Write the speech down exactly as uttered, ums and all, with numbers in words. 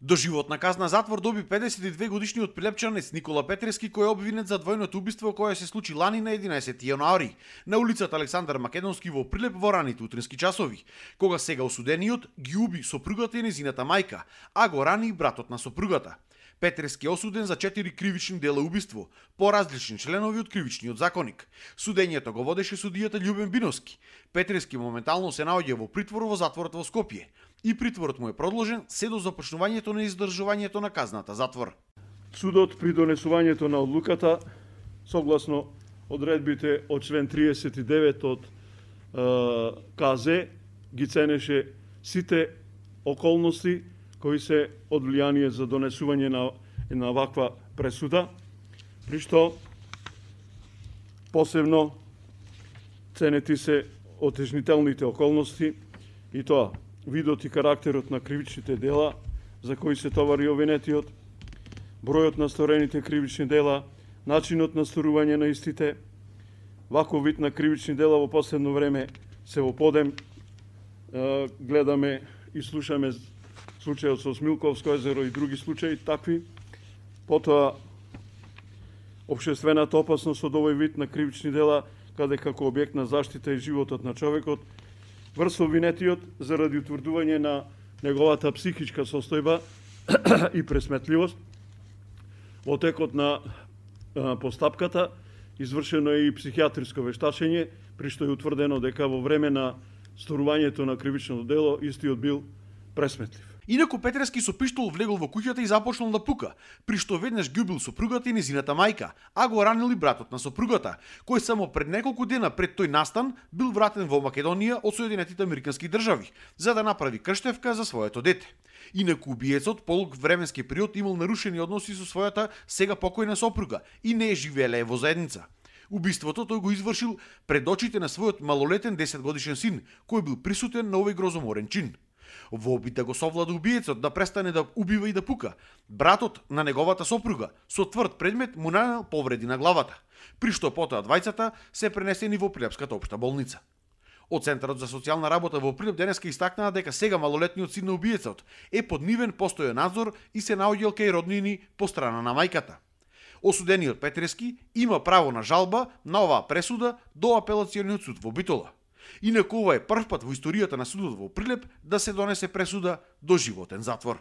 Доживотна казна затвор доби педесет и две годишниот прилепчанец Никола Петрески, кој е обвинет за двојното убиство кое се случи лани на единаесети јануари на улицата Александар Македонски во Прилеп во раните утрински часови, кога сега осудениот ги уби сопругата и незината мајка, а го рани и братот на сопругата. Петрески е осуден за четири кривични дела убиство, по различни членови од кривичниот законник. Судењето го водеше судијата Љубен Биновски. Петрески моментално се наоѓа во притвор во затворот во Скопје и притворот му е продолжен се до започнувањето на издржувањето на казната затвор. Судот при донесувањето на одлуката, согласно одредбите од член триесет и девет од е, КЗ, ги ценеше сите околности кои се од влијание за донесување на, на ваква пресуда, при што посебно ценети се отежнителните околности и тоа видот и карактерот на кривичните дела за кои се товари обвинетиот, бројот на сторените кривични дела, начинот на сторување на истите. Ваков вид на кривични дела во последно време се во подем. Гледаме и слушаме случајот со Смилковско езеро и други случаи такви. Потоа општествената опасност од овој вид на кривични дела, каде како објект на заштита и животот на човекот, врз обвинетиот заради утврдување на неговата психичка состојба и пресметливост. Во текот на постапката извршено е и психијатриско вештачење, при што е утврдено дека во време на сторувањето на кривичното дело истиот бил пресметлив. Инаку Петрески со пиштол влегол во куќата и започнал да пука, при што веднаш ги убил сопругата и незината мајка, а го ранил и братот на сопругата, кој само пред неколку дена пред тој настан бил вратен во Македонија од Соединетите Американски држави, за да направи крштевка за своето дете. Инаку убиецот полуг временски период имал нарушени односи со својата сега покојна сопруга и не е живееле во заедница. Убиството тој го извршил пред очите на својот малолетен десетгодишен син, кој бил присутен на овој грозоморен чин. Во обид да го совлада убиецот да престане да убива и да пука, братот на неговата сопруга со тврд предмет му нанел повреди на главата, при што потоа двајцата се пренесени во Прилепската општа болница. Од Центарот за социјална работа во Прилеп денеска истакнаа дека сега малолетниот син на убиецот е под нивен постојан надзор и се наоѓал кај роднини по страна на мајката. Осудениот Петрески има право на жалба на оваа пресуда до апелациониот суд во Битола. Инаку ова е прв пат во историјата на судот во Прилеп да се донесе пресуда до животен затвор.